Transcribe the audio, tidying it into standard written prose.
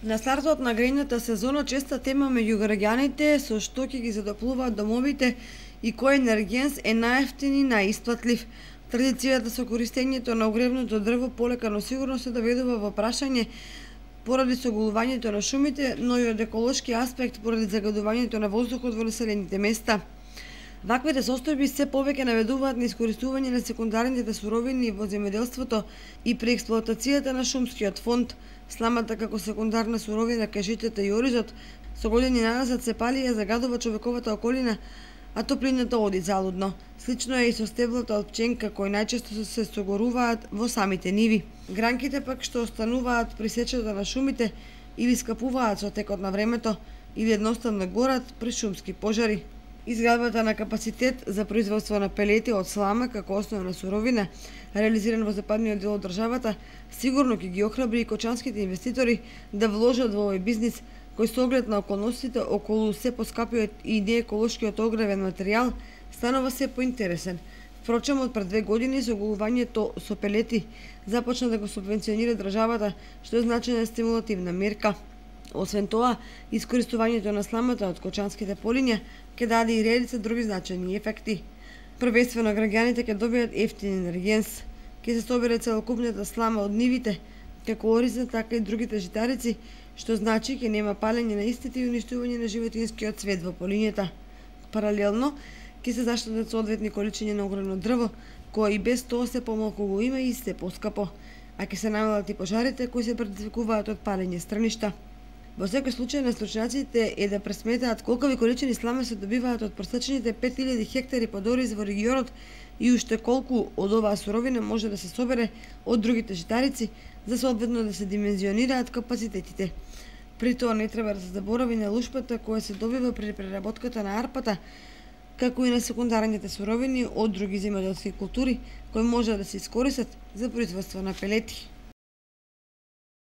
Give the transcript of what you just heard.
На стартот на грејната сезона честа тема меѓу граѓаните со што ќе ги задоплуваат домовите и кој енергенс е најевтин и најисплатлив. Традицијата со користењето на огревното дрво полека но сигурно се доведува во прашање поради соголувањето на шумите, но и од еколошки аспект поради загадувањето на воздухот во населените места. Ваквите состојби се повеќе наведуваат на искористување на секундарните суровини во земјоделството и преексплоатацијата на шумскиот фонд. Сламата како секундарна суровина кај житата и оризот со години назад се пали и загадува човековата околина, а топлината оди залудно. Слично е и со стеблата од пченка кои најчесто се согоруваат во самите ниви. Гранките пак што остануваат при сечата на шумите или скапуваат со текот на времето или едноставно горат при шумски пожари. Изградбата на капацитет за производство на пелети од слама како основна суровина, реализиран во западниот дел од државата, сигурно ќе ги охрабри и кочанските инвеститори да вложат во овој бизнис, кој со оглед на околностите околу се поскапиот и нееколошкиот огревен материјал станува се поинтересен. Впрочем, од пред 2 години соголувањето со пелети започна да го субвенционира државата, што е значајна стимулативна мерка. Освен тоа, искористувањето на сламата од кочанските полиња ќе даде и редица други значајни ефекти. Првенствено граѓаните ќе добијат ефтин енергенс, ќе се собере целокупната слама од нивите, како ориза, така и другите житарици, што значи ќе нема палење на истите и уништување на животинскиот свет во полињата. Паралелно, ќе се заштедат соодветни количини на огревно дрво, кој и без тоа се помалку го има и се поскапо, а ќе се намалат и пожарите кои се предизвикуваат од палење страништа. Во секој случај на стручњаците е да пресметаат колкови количини слама се добиваат од просечните 5000 хектари под ориз во регионот и уште колку од оваа суровина може да се собере од другите житарици за соодветно да се димензионираат капацитетите. При тоа не треба да се заборави на лушпата која се добива при преработката на арпата, како и на секундарните суровини од други земјоделски култури кои може да се искористат за производство на пелети.